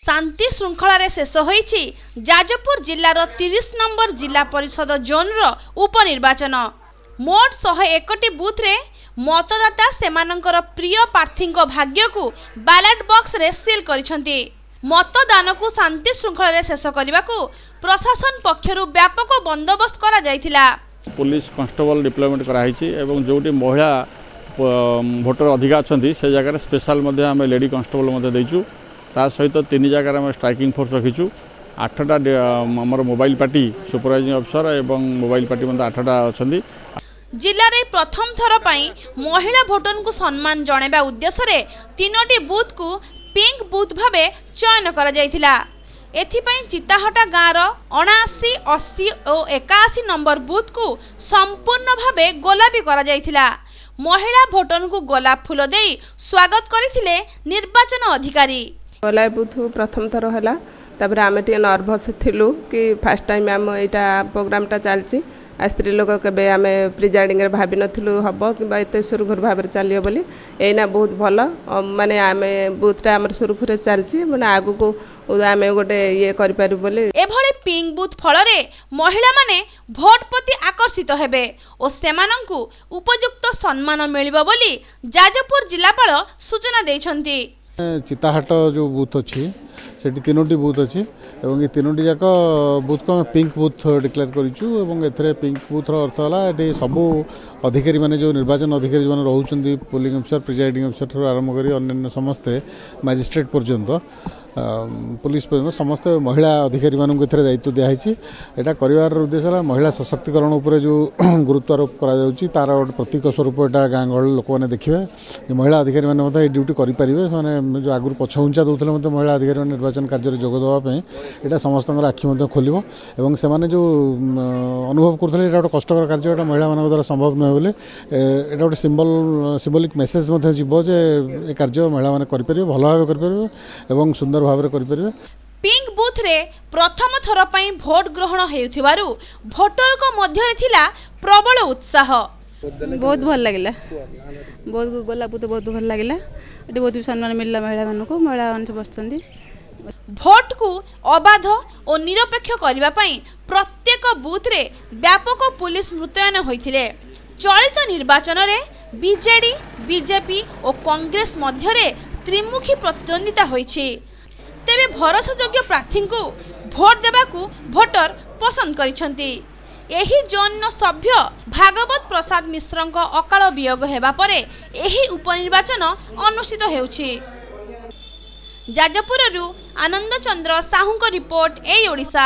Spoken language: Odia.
ଶାନ୍ତି ଶୃଙ୍ଖଳାରେ ଶେଷ ହୋଇଛି ଯାଜପୁର ଜିଲ୍ଲାର 30 ନମ୍ବର ଜିଲ୍ଲା ପରିଷଦ ଜୋନ୍ର ଉପନିର୍ବାଚନ। ମୋଟ 101ଟି ବୁଥରେ ମତଦାତା ସେମାନଙ୍କର ପ୍ରିୟ ପ୍ରାର୍ଥୀଙ୍କ ଭାଗ୍ୟକୁ ବାଲାଟ ବକ୍ସରେ ସିଲ୍ କରିଛନ୍ତି। ମତଦାନକୁ ଶାନ୍ତି ଶୃଙ୍ଖଳାରେ ଶେଷ କରିବାକୁ ପ୍ରଶାସନ ପକ୍ଷରୁ ବ୍ୟାପକ ବନ୍ଦୋବସ୍ତ କରାଯାଇଥିଲା। ପୋଲିସ କନଷ୍ଟେବଲ ଡିପ୍ଲୟମେଣ୍ଟ କରାହେଇଛି ଏବଂ ଯେଉଁଠି ମହିଳା ଭୋଟର ଅଧିକା ଅଛନ୍ତି, ସେ ଜାଗାରେ ସ୍ପେଶାଲ ମଧ୍ୟ ଆମେ ଲେଡି କନଷ୍ଟେବଲ ମଧ୍ୟ ଦେଇଛୁ। ତା ସହିତ 3 ଜାଗାରେ ଆମେ ଷ୍ଟ୍ରାଇକିଂ ଫୋର୍ସ ରଖିଛୁ। 8ଟା ଆମର ମୋବାଇଲ ପାର୍ଟି, ସୁପରଭାଇଜିଂ ଅଫିସର ଏବଂ ମୋବାଇଲ ପାର୍ଟି ମଧ୍ୟ 8ଟା ଅଛନ୍ତି। ଜିଲ୍ଲାରେ ପ୍ରଥମ ଥର ପାଇଁ ମହିଳା ଭୋଟରଙ୍କୁ ସମ୍ମାନ ଜଣାଇବା ଉଦ୍ଦେଶ୍ୟରେ 3ଟି ବୁଥକୁ ପିଙ୍କ ବୁଥ୍ ଭାବେ ଚୟନ କରାଯାଇଥିଲା। ଏଥିପାଇଁ ଚିତାହଟା ଗାଁର 79, 80 ଓ 81 ନମ୍ବର ବୁଥକୁ ସମ୍ପୂର୍ଣ୍ଣ ଭାବେ ଗୋଲାପୀ କରାଯାଇଥିଲା। ମହିଳା ଭୋଟରଙ୍କୁ ଗୋଲାପ ଫୁଲ ଦେଇ ସ୍ୱାଗତ କରିଥିଲେ ନିର୍ବାଚନ ଅଧିକାରୀ। ଗୋଲାପୀ ବୁଥ୍ ପ୍ରଥମ ଥର ହେଲା। ତାପରେ ଆମେ ଟିକେ ନର୍ଭସ୍ ଥିଲୁ କି ଫାର୍ଷ୍ଟ ଟାଇମ୍ ଆମ ଏଇଟା ପ୍ରୋଗ୍ରାମଟା ଚାଲିଛି। ଆଉ ସ୍ତ୍ରୀ ଲୋକ କେବେ ଆମେ ପ୍ରିଜାଇଡ଼ିଂରେ ଭାବିନଥିଲୁ ହେବ କିମ୍ବା ଏତେ ସୁରୁଖୁରୁ ଭାବରେ ଚାଲିବ ବୋଲି। ଏଇନା ବହୁତ ଭଲ, ମାନେ ଆମେ ବୁଥଟା ଆମର ସୁରୁଖୁରୁରେ ଚାଲିଛି, ମାନେ ଆଗକୁ ଆମେ ଗୋଟେ ଇଏ କରିପାରିବୁ ବୋଲି। ଏଭଳି ପିଙ୍କ ବୁଥ୍ ଫଳରେ ମହିଳାମାନେ ଭୋଟ ପ୍ରତି ଆକର୍ଷିତ ହେବେ ଓ ସେମାନଙ୍କୁ ଉପଯୁକ୍ତ ସମ୍ମାନ ମିଳିବ ବୋଲି ଯାଜପୁର ଜିଲ୍ଲାପାଳ ସୂଚନା ଦେଇଛନ୍ତି। ଚିତାହାଟ ଯେଉଁ ବୁଥ୍ ଅଛି, ସେଠି 3ଟି ବୁଥ୍ ଅଛି ଏବଂ ଏ 3ଟି ଯାକ ବୁଥ୍କୁ ଆମେ ପିଙ୍କ ବୁଥ୍ ଡିକ୍ଲେୟାର କରିଛୁ। ଏବଂ ଏଥିରେ ପିଙ୍କ ବୁଥ୍ର ଅର୍ଥ ହେଲା, ଏଠି ସବୁ ଅଧିକାରୀମାନେ, ଯେଉଁ ନିର୍ବାଚନ ଅଧିକାରୀ ଯେଉଁମାନେ ରହୁଛନ୍ତି, ପୋଲିଂ ଅଫିସର, ପ୍ରିଜାଇଡ଼ିଂ ଅଫିସର ଠାରୁ ଆରମ୍ଭ କରି ଅନ୍ୟାନ୍ୟ ସମସ୍ତେ, ମାଜିଷ୍ଟ୍ରେଟ୍ ପର୍ଯ୍ୟନ୍ତ, ପୋଲିସ ପର୍ଯ୍ୟନ୍ତ, ସମସ୍ତେ ମହିଳା ଅଧିକାରୀମାନଙ୍କୁ ଏଥିରେ ଦାୟିତ୍ୱ ଦିଆହେଇଛି। ଏଇଟା କରିବାର ଉଦ୍ଦେଶ୍ୟ ହେଲା, ମହିଳା ସଶକ୍ତିକରଣ ଉପରେ ଯେଉଁ ଗୁରୁତ୍ୱ ଆରୋପ କରାଯାଉଛି, ତାର ଗୋଟେ ପ୍ରତୀକ ସ୍ୱରୂପ ଏଇଟା। ଗାଁ ଗହଳି ଲୋକମାନେ ଦେଖିବେ ଯେ ମହିଳା ଅଧିକାରୀମାନେ ମଧ୍ୟ ଏଇ ଡ୍ୟୁଟି କରିପାରିବେ। ସେମାନେ ଯେଉଁ ଆଗରୁ ପଛଘୁଞ୍ଚା ଦେଉଥିଲେ ମଧ୍ୟ ମହିଳା ଅଧିକାରୀମାନେ ନିର୍ବାଚନ କାର୍ଯ୍ୟରେ ଯୋଗ ଦେବା ପାଇଁ, ଏଇଟା ସମସ୍ତଙ୍କର ଆଖି ମଧ୍ୟ ଖୋଲିବ। ଏବଂ ସେମାନେ ଯେଉଁ ଅନୁଭବ କରୁଥିଲେ ଏଇଟା ଗୋଟେ କଷ୍ଟକର କାର୍ଯ୍ୟ, ଏଇଟା ମହିଳାମାନଙ୍କ ଦ୍ୱାରା ସମ୍ଭବ ନୁହେଁ ବୋଲି, ଏଇଟା ଗୋଟେ ସିମ୍ବଲିକ୍ ମେସେଜ ମଧ୍ୟ ଯିବ ଯେ ଏ କାର୍ଯ୍ୟ ମହିଳାମାନେ କରିପାରିବେ, ଭଲ ଭାବେ କରିପାରିବେ ଏବଂ ସୁନ୍ଦର ଭାବରେ କରିପାରିବେ। ପିଙ୍କ ବୁଥରେ ପ୍ରଥମ ଥର ପାଇଁ ଭୋଟ ଗ୍ରହଣ ହେଉଥିବାରୁ ଭୋଟରଙ୍କ ମଧ୍ୟରେ ଥିଲା ପ୍ରବଳ ଉତ୍ସାହ। ବହୁତ ଭଲ ଲାଗିଲା, ବହୁତ ଗୋଲାପ ତ ବହୁତ ଭଲ ଲାଗିଲା। ଏଠି ବହୁତ ବି ସମ୍ମାନ ମିଳିଲା ମହିଳାମାନଙ୍କୁ, ମହିଳାମାନେ ସବୁ ବସିଛନ୍ତି। ଭୋଟକୁ ଅବାଧ ଓ ନିରପେକ୍ଷ କରିବା ପାଇଁ ପ୍ରତ୍ୟେକ ବୁଥରେ ବ୍ୟାପକ ପୁଲିସ ମୁତୟନ ହୋଇଥିଲେ। ଚଳିତ ନିର୍ବାଚନରେ ବିଜେଡି, ବିଜେପି ଓ କଂଗ୍ରେସ ମଧ୍ୟରେ ତ୍ରିମୁଖୀ ପ୍ରତିଦ୍ୱନ୍ଦିତା ହୋଇଛି। ତେବେ ଭରସାଯୋଗ୍ୟ ପ୍ରାର୍ଥୀଙ୍କୁ ଭୋଟ ଦେବାକୁ ଭୋଟର ପସନ୍ଦ କରିଛନ୍ତି। ଏହି ଜୋନ୍ର ସଭ୍ୟ ଭାଗବତ ପ୍ରସାଦ ମିଶ୍ରଙ୍କ ଅକାଳ ବିୟୋଗ ହେବା ପରେ ଏହି ଉପନିର୍ବାଚନ ଅନୁଷ୍ଠିତ ହେଉଛି। ଯାଜପୁରରୁ ଆନନ୍ଦ ଚନ୍ଦ୍ର ସାହୁଙ୍କ ରିପୋର୍ଟ, ଏଇ ଓଡ଼ିଶା।